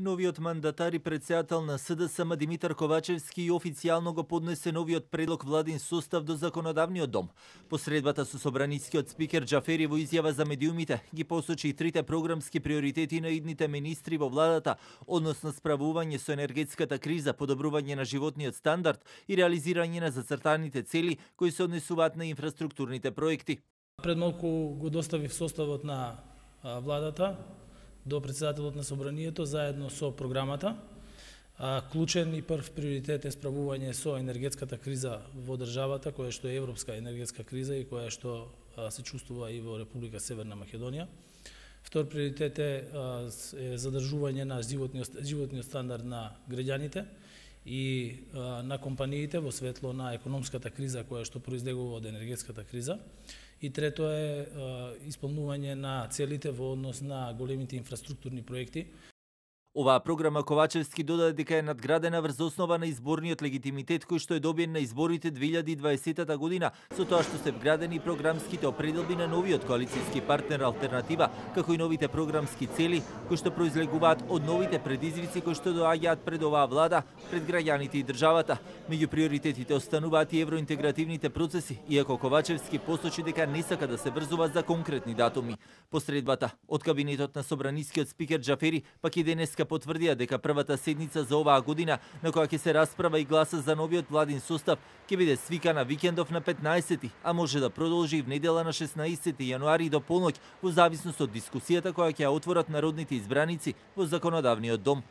Новиот мандатар и председател на СДСМ Димитар Ковачевски и официјално го поднесе новиот предлог владин состав до законодавниот дом. По средбата со собранискиот спикер Џафери во изјава за медиумите ги посочи и трите програмски приоритети на идните министри во владата, односно справување со енергетската криза, подобрување на животниот стандард и реализирање на зацртаните цели кои се однесуваат на инфраструктурните проекти. Пред малку го доставив составот на владата до председателот на собранието заедно со програмата. Клучен и прв приоритет е справување со енергетската криза во државата, која што е европска енергетска криза и која што се чувствува и во Република Северна Македонија. Втор приоритет е задржување на животниот стандард на граѓаните и на компаниите во светло на економската криза која што произлегува од енергетската криза. И трето е исполнување на целите во однос на големите инфраструктурни проекти. Оваа програма Ковачевски додаде дека е надградена врз основа на изборниот легитимитет кој што е добиен на изборите 2020 година, со тоа што се вградени програмските определби на новиот коалицијски партнер Алтернатива, како и новите програмски цели кои што произлегуваат од новите предизвици кои што доаѓаат пред оваа влада, пред граѓаните и државата. Меѓу приоритетите остануваат и евроинтегративните процеси, иако Ковачевски посочи дека не сака да се врзува за конкретни датуми. По средбата од кабинетот на собранискиот спикер Џафери пак и денеска потврдија дека првата седница за оваа година на која ќе се расправа и гласа за новиот владин состав ќе биде свикана викендов на 15, а може да продолжи и в недела на 16 јануари до полноќ во зависност од дискусијата која ќе ја отворат народните избраници во законодавниот дом.